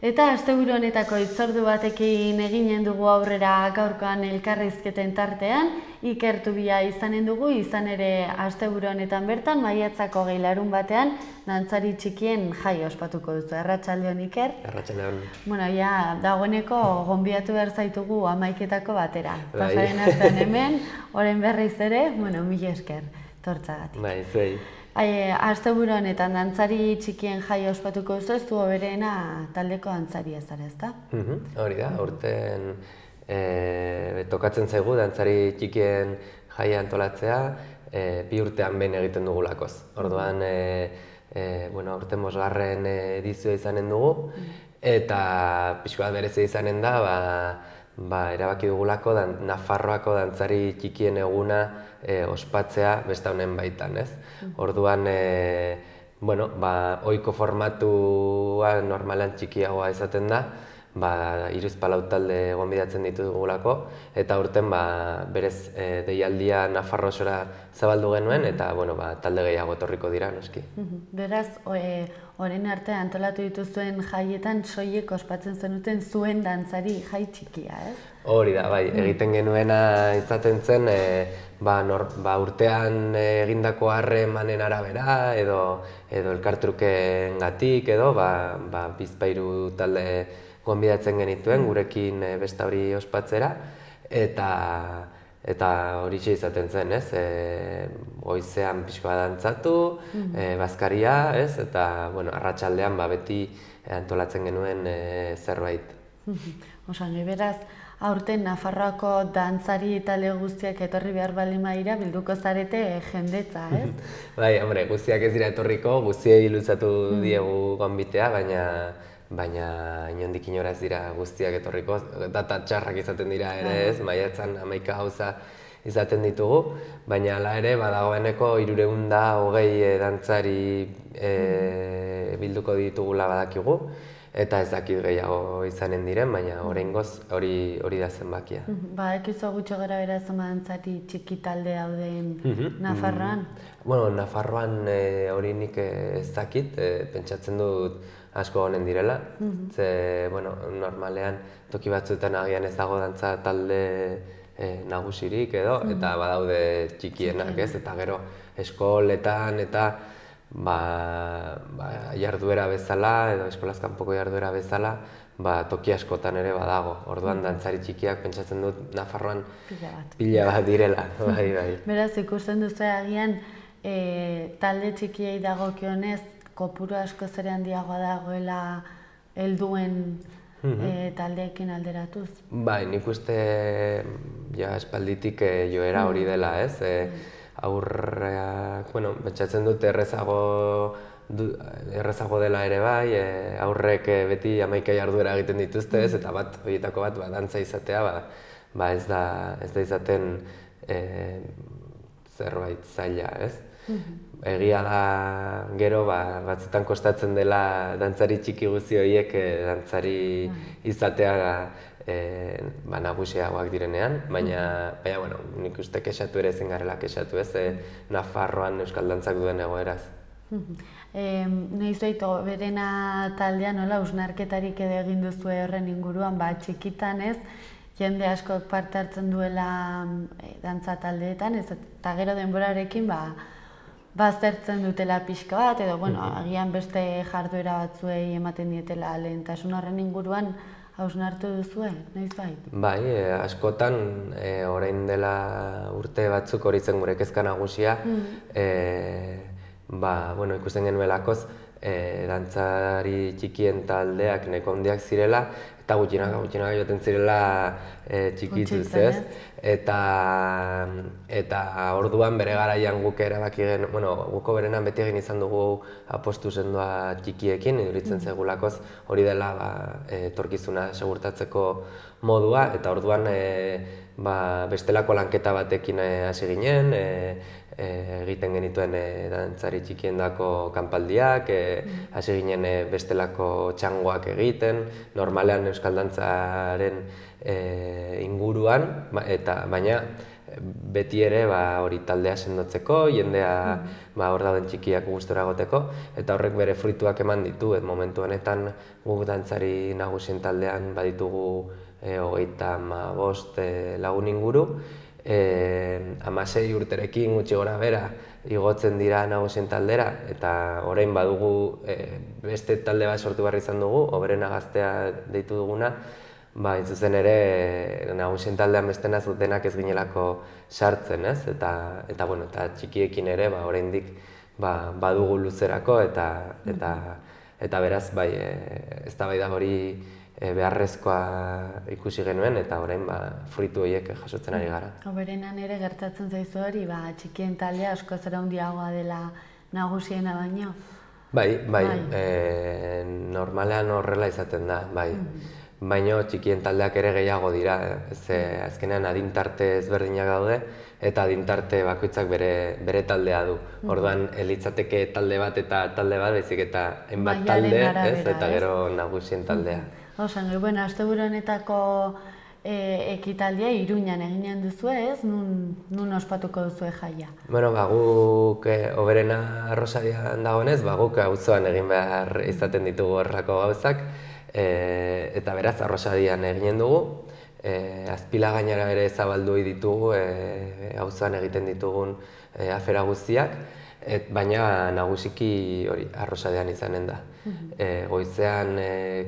Eta asteburu honetako hitzordu batekin eginen dugu aurrera gaurkoan elkarrizketen tartean, Iker Tubia izanen dugu, izan ere asteburu honetan bertan, maiatzako 6 larun batean, dantzari txikien jai ospatuko duzu. Arratsaldeon, Iker? Arratsaldeon. Bueno, ja, dagoeneko gonbidatu behar zaitugu 11etako batera. Pasaren astean hemen, orain berriz ere, bueno, mila esker, tortzagatik. Bai, zuei. Asteburu honetan dantzari txikien jai ospatuko duzu, ez du hoberena taldeko dantzaria zara, ezta? Hori da, aurten tokatzen zaigu dantzari txikien jaia antolatzea, 2 urtean behin egiten dugulakoz. Orduan, aurten 5. edizioa izanen dugu, eta pixka bat berezia izanen da, erabaki dugulako Nafarroako dantzari txikien eguna ospatzea beste honen baitan, ez? Orduan, ohiko formatua normalan txikiagoa izaten da, 3-4 talde gonbidatzen ditugulako, eta aurten berez deialdia Nafarro osora zabaldu genuen, eta talde gehiago etorriko dira, noski. Beraz, orain arte antolatu dituzuen jaietan soilik ospatzen zenuten zuen dantzari jai txikia, ez? Hori da, bai, egiten genuena izaten zen, urtean egindako harremanen arabera, edo elkartrukengatik, edo bizpahiru talde gonbidatzen genituen, gurekin beste hori ospatzera, eta horixe izaten zen, ez? Goizean pixka bat dantzatu, bazkaria, ez? Eta, arratsaldean beti antolatzen genuen zerbait. Osangi, beraz, aurten Nafarroako dantzari talde guztiak etorri behar baldin badira, bilduko zarete jendetza, ez? Bai, guztiak ez dira etorriko, guztiei luzatu diegu gonbitea, baina inondik inora ez dira guztiak etorriko, data txarrak izaten dira ere, ez? Maiatzan 11 gauza izaten ditugu, baina hala ere, dagoeneko 320 dantzari bilduko ditugula badakigu, eta ez dakit gehiago izanen diren, baina oraingoz hori da zenbakia. Ekizu gutxo gara bera zoma dantzari txiki talde dauden Nafarroan? Nafarroan hori nik ez dakit, pentsatzen dut asko honen direla. Normalean toki batzuetan agian ez dago dantza talde nagusirik edo, eta badaude txikienak, ez? Eta gero eskoletan eta jarduera bezala, edo eskolaz kanpoko jarduera bezala, toki askotan ere badago. Orduan dantzari txikiak pentsatzen dut Nafarroan pila bat direla. Beraz, ikusten duzu agian talde txikiei dagokionez, kopuru asko zer handiagoa dagoela helduen taldeekin alderatuz? Bai, nik uste espalditik joera hori dela, ez? Aurreak, pentsatzen dut errezago dela ere bai, aurrek beti 11 jarduera egiten dituzte, ez? Eta horietako bat dantza izatea, ez da izaten zerbait zaila, ez? Egia da gero batzutan kostatzen dela dantzari txiki guzti horiek dantzari izatea nagusiagoak direnean, baina nik uste kexatu ere ezin garela kexatu, ez? Nafarroan euskal dantzak duen egoeraz. Noiz berena taldean hausnarketarik edo egin duzu horren inguruan, txikitan ez, jende askok parte hartzen duela dantza taldeetan, eta gero denborarekin baztertzen dutela pixka bat, edo agian beste jarduera batzuei ematen dietela lehentasun horren inguruan hausnartu duzue, noiz bait? Bai, askotan orain dela urte batzuk hori zen gure kezka nagusia, ikusten genuelakoz dantzari txikien taldeak nahiko handiak zirela, eta gutxinaka joaten zirela txikituz, ez? Eta orduan bere garaian guk erabaki guko berenan beti egin izan dugu apostu sendoa txikiekin, iduritzen zaigulakoz hori dela etorkizuna segurtatzeko modua, eta orduan bestelako lanketa batekin hasi ginen, egiten genituen dantzari txikiendako kanpaldiak, hasi ginen bestelako txangoak egiten, normalean euskal dantzaren inguruan, baina beti ere hori taldea sendotzeko, jendea hor dauden txikiak gustora egoteko, eta horrek bere fruituak eman ditu, momentu honetan guk dantzari nagusien taldean baditugu 35 lagun inguru, 16 urterekin gutxi gora bera igotzen dira nagusien taldera, eta orain badugu beste talde bat sortu behar izan dugu, Oberena Gaztea deitu duguna, zuzen ere nagusien taldean bestena zutenak ez ginelako sartzen, ez? Eta txikiekin ere oraindik badugu luzerako, eta beraz eztabaida hori beharrezkoa ikusi genuen, eta orain fruitu horiek jasotzen ari gara. Oberenan ere gertatzen zaizu hori, txikien taldea askoz ere handiagoa dela nagusiena baino? Bai, normalean horrela izaten da, bai. Baina txikien taldeak ere gehiago dira, azkenean adintarte ezberdinak daude, eta adintarte bakoitzak bere taldea du. Orduan, litzateke talde bat eta talde bat, baizik eta enbat talde, eta gero nagusien taldea. Bueno, asteburu honetako ekitaldia Iruñan eginen duzu, ez? Nun ospatuko duzu jaia? Bueno, guk Oberena Arrosadian dagoenez, guk auzoan egin behar izaten ditugu horrelako gauzak, eta beraz Arrosadian eginen dugu. Azpila gainera ere zabaldu ditugu auzoan egiten ditugun afera guztiak, baina nagusiki hori Arrosadian izanen da. Goizean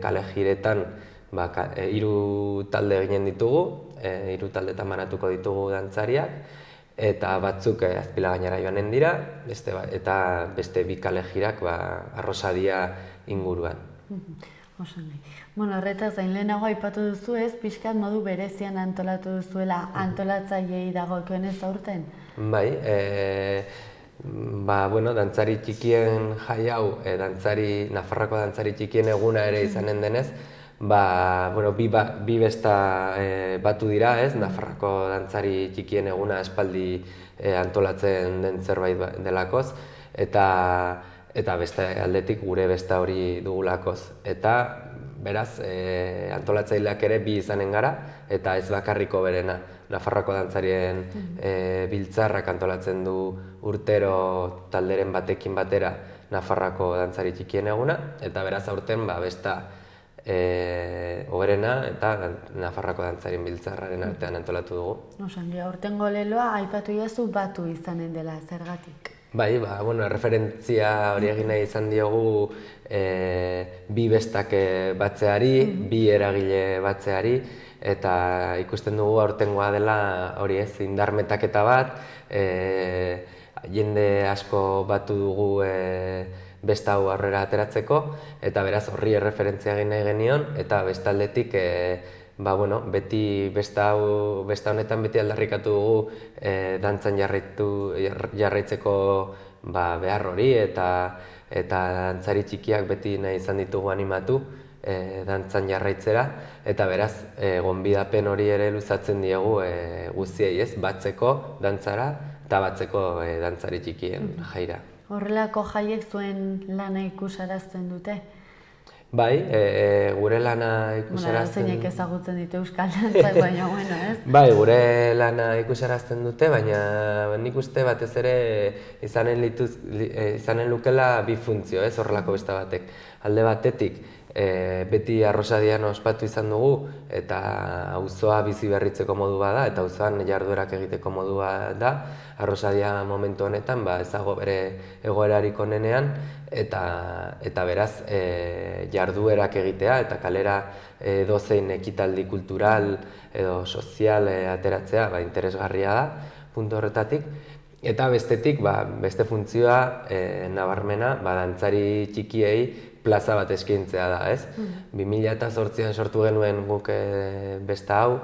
kale jiretan 3 talde eginen ditugu, 3 taldetan banatuko ditugu dantzariak, eta batzuk Azpila gainera joanen dira, eta beste 2 kale jirak Arrosadia inguruan. Horretaz gain lehenago aipatu duzu ez, pixkat modu berezian antolatu duzuela antolatzaileei dagokionez aurten? Bai, dantzari txikien jai hau, Nafarroako dantzari txikien eguna ere izanen denez, bi besta batu dira, ez, Nafarroako dantzari txikien eguna espaldi antolatzen den zerbait delakoz, eta beste aldetik gure besta hori dugulakoz. Eta beraz, antolatzaileak ere bi izanen gara, eta ez bakarriko berena. Nafarroako dantzarien biltzarrak antolatzen du urtero talderen batekin batera Nafarroako dantzari txikien eguna, eta beraz aurten besta Oberena eta Nafarroako dantzarien biltzarraren artean antolatu dugu. Aurtengo leloa aipatu jazu batu izanen dela, zergatik? Bai, erreferentzia hori egin nahi izan diogu bi bestak batzeari, bi eragile batzeari, eta ikusten dugu aurtengoa dela hori ez, indarmetaketa bat, jende asko batu dugu besta hau aurrera ateratzeko, eta beraz horri erreferentzia egin nahi genion, eta bestaldetik beti besta honetan beti aldarrikatu dugu dantzan jarraitzeko behar hori, eta dantzari txikiak beti nahi izan ditugu animatu dantzan jarraitzera, eta beraz gonbidapen hori ere luzatzen diegu guztiei, ez, batzeko dantzara eta batzeko dantzari txikien jaira. Horrelako jaiek zuen lana ikusarazten dute? Bai, gure lana ikusarazten... Zeinek ezagutzen ditu euskal dantzak, baina ez? Bai, gure lana ikusarazten dute, baina nik uste batez ere izanen lukela bi funtzio, ez, horrelako besta batek. Alde batetik, beti Arrosadian ospatu izan dugu, eta auzoa bizi berritzeko modu bada, eta auzoan jarduerak egiteko modua da. Arrosadia momentu honetan ez dago bere egoerarik onenean, eta beraz jarduerak egitea, eta kalera edozein ekitaldi kultural edo sozial ateratzea interesgarria da, puntu horretatik. Eta bestetik, beste funtzioa nabarmena, dantzari txikiei plaza bat eskaintzea da, ez? 2008an sortu genuen guk besta hau,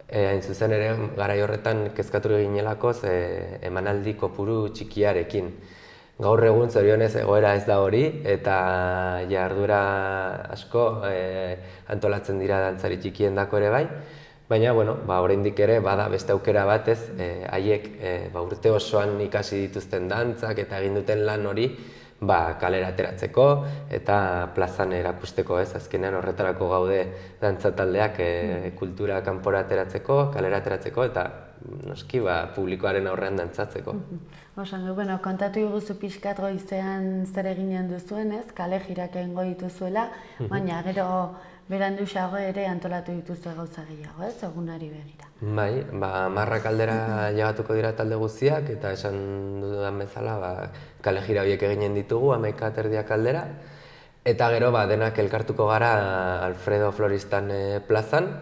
hain zuzen ere garai horretan kezkatu ginelakoz emanaldi kopuru txikiarekin. Gaur egun zorionez egoera ez da hori, eta jarduera asko antolatzen dira dantzari txikien dako ere bai, baina, oraindik ere bada beste aukera batez, haiek urte osoan ikasi dituzten dantzak eta egin duten lan hori kalera ateratzeko eta plazan erakusteko, ez, azkenean horretarako gaude dantza taldeak kultura kanpora ateratzeko, kalera ateratzeko, eta noski, publikoaren aurrean dantzatzeko. Osango, kontatu iguzu pixkat goizean zer eginen duzuen, ez? Kale jirak egingo dituzuela, baina gero beranduxago ere antolatu dituzue gauza gehiago, ez? Egunari begira. Bai, 10 aldera llegatuko dira talde guztiak, eta esan dudan bezala, kale jira horiek eginen ditugu, 11:30 aldera. Eta gero denak elkartuko gara Alfredo Floristan plazan,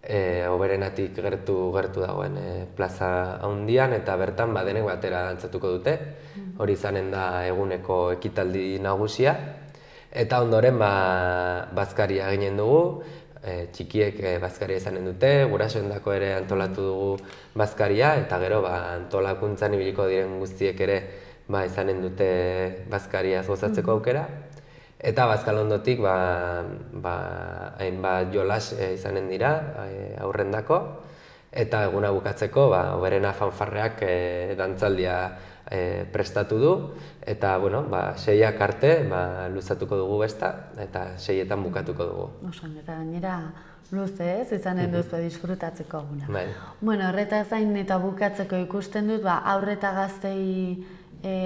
Oberenatik gertu dagoen plaza handian, eta bertan denek batera dantzatuko dute. Hori izanen da eguneko ekitaldi nagusia. Eta ondoren bazkaria eginen dugu, txikiek bazkaria izanen dute, gurasoendako ere antolatu dugu bazkaria, eta gero antolakuntzan ibiliko diren guztiek ere izanen dute bazkariaz gozatzeko aukera. Eta bazkalondotik hainbat jolas izanen dira aurrendako, eta eguna bukatzeko Oberena fanfarreak dantzaldia prestatu du, eta 6ak arte luzatuko dugu besta, eta 6etan bukatuko dugu. Osan, eta gainera luze ez, izanen duzu disfrutatzeko eguna. Bai. Horretaz gain eta bukatzeko ikusten dut, aurre eta gaztei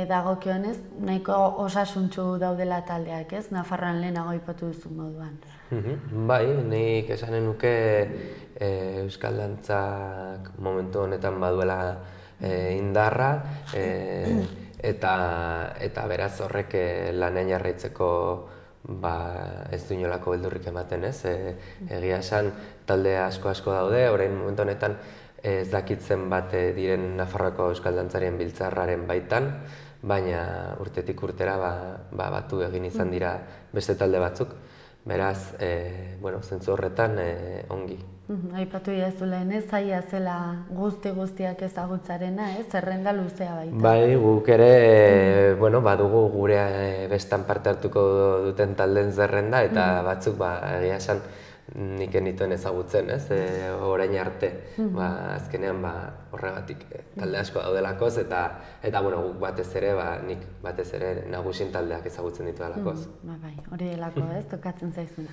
dagokionez, nahiko osasuntsu daudela taldeak, ez? Nafarroan lehenago aipatu duzu moduan. Bai, nik esanen nuke euskal dantzak momentu honetan baduela indarra, eta beraz horrek lanean jarraitzeko ez du inolako beldurrik ematen, ez? Egia esan talde asko daude, orain momentu honetan ez dakitzen bat diren Nafarroako euskal dantzarien biltzarraren baitan, baina urtetik urtera batu egin izan dira beste talde batzuk. Beraz, zentzu horretan ongi. Aipatu iazu lehen ez, zaila zela guztiak ezagutzarena, ez? Zerrenda luzea baita. Bai, guk ere badugu gure bestan parte hartuko duten taldeen zerrenda, eta batzuk egia esan nik enituen ezagutzen, ez? Orain arte, azkenean horregatik talde asko daudelakoz, eta guk batez ere, nik batez ere nagusien taldeak ezagutzen ditu delakoz. Bai, hori delako, ez? Tokatzen zaizuna.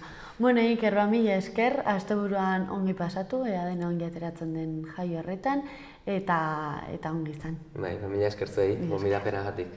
Iker, mila esker, asteburuan ongi pasatu, ea dena ongi ateratzen den jai horretan, eta ongi izan. Bai, mila esker zuei, gonbidapenagatik.